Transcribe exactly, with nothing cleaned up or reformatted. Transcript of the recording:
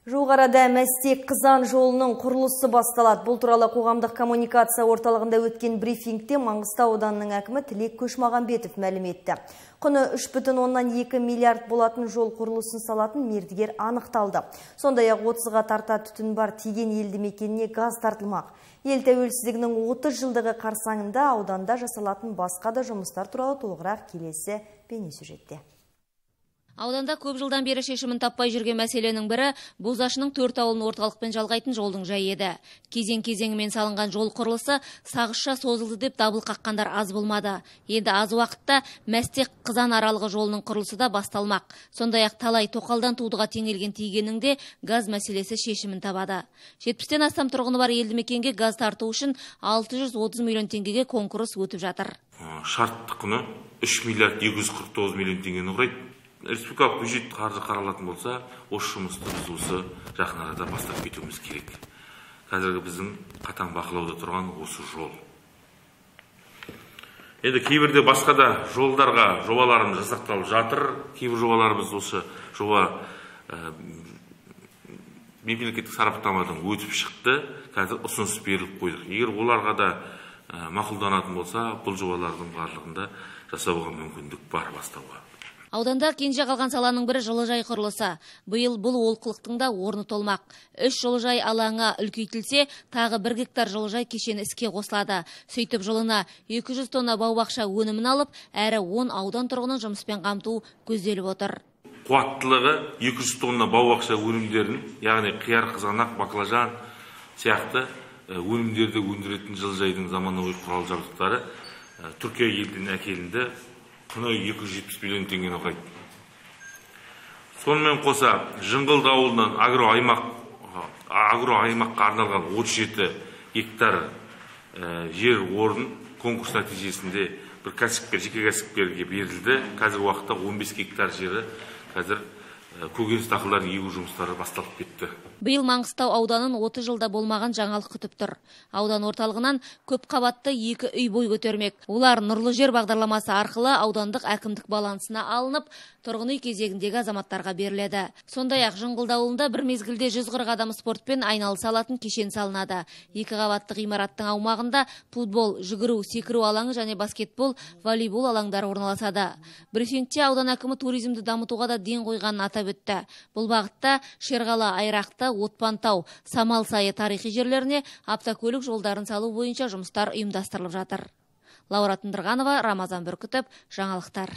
Жуық арада Мәстек-Қызан жолының құрылысы басталады. Бұл туралы қоғамдық коммуникация орталығында өткен брифингте Маңғыстау ауданының әкімі Тілек Көшмағанбетов мәлім етті. Құны үш бүтін оннан екі миллиард болатын жол құрылысын салатын мердігер анықталды. Сондай-ақ отызға тарта түтін бар Теген елді мекеніне газ тартылмақ. Ел тәуелсіздігінің отыз жылдығы қарсаңында ауданда жасалатын басқа да жұмыстар туралы толығырақ келесі бейнесюжетте. Ауданда көп жылдан бері шешімін таппай жүрген мәселенің бірі Бозашының төрт ауылын орталықпен жалғайтын жолдың жайы еді. Кезең-кезеңімен салынған жол құрылысы сағызша созылды деп дабыл қаққандар аз болмады. Енді аз уақытта Мәстек-Қызан аралығы жолының құрылысы да басталмақ. Сондай-ақ талай тоқалдан тудыға теңелген Тегеннің де газ мәселесі шешімін табады. жетпістен астам тұрғыны бар елді мекенге газ тарту үшін алты жүз отыз миллион теңгеге конкурс өтіп жатыр. Шартты құны үш миллиард екі жүз қырық тоғыз миллион теңгені құрайды. Республикалық бюджет қаржы қаралатын болса, осы жұмысты біз осы жақын арада бастап кетуіміз керек. Қазіргі біздің қатаң бақылауда тұрған осы жол. Енді кейбірде басқа да жолдарға жобаларымыз жасақталып жатыр. Кейбір жобаларымыз осы жоба мемлекеттік сараптамадан өтіп шықты. Қазір ұсыныс беріліп қойдық. Егер оларға да мақұлданатын болса, бұл жобалардың барлығында жасауға мүмкіндік бар бастауға. Ауданда кенже қалған саланың бірі жылыжай құрылысы. Биыл бұл олқылықтың да орны толмақ. Үш жылыжай алаңы үлкейтілсе, тағы бір гектар жылыжай кешені іске қосылады. Сөйтіп жылына екі жүз тонна бау-бақша өнімін алып, әрі он аудан тұрғынын жұмыспен қамту көзделіп отыр. Қуаттылығы екі жүз тонна бау-бақша өнімдерін, яғни қияр, қызанақ, баклажан сияқты өнімдерді өндіретін жылыжайдың заманауи құрал жабдықтары Түркия елден әкелінді. Құны екі жүз жетпіс миллион теңгені құрайды. Сонымен қоса Жыңғыл ауылынан агро аймақ агро аймаққа арналған отыз жеті гектар жер орын конкурс нәтижесінде бір кәсіпкер, жеке кәсіпкерге берілді. Қазір уақытта он бес гектар жері қазір көкөніс дақылдарын егу жұмыстары басталып кетті. Биыл Маңғыстау ауданын отыз жылда болмаған жаңалық күтіп тұр. Аудан орталығынан көп қабатты екі үй бой көтермек. Олар Нұрлы жер бағдарламасы арқылы аудандық әкімдік балансына алынып, тұрғын үй кезегіндегі азаматтарға беріледі. Сондай-ақ Жыңғыл ауылында бір мезгілде жүз қырық адам спортпен айналыса алатын кешен салынады. Екі қабатты ғимараттың аумағында футбол, жүгіру, секіру алаңы және баскетбол, волейбол алаңдары орналасады. Брифингте аудан әкімі туризмді дамытуға да ден қойғанын атап өтті. Бұл бағытта Шерғала, Айрақты, Отпантау, Самал сайы тарихи жерлеріне автокөлік жолдарын салу бойынша жұмыстар ұйымдастырылып жатыр. Лаура Тындырғанова, Рамазан Бүркітов, жаңалықтар.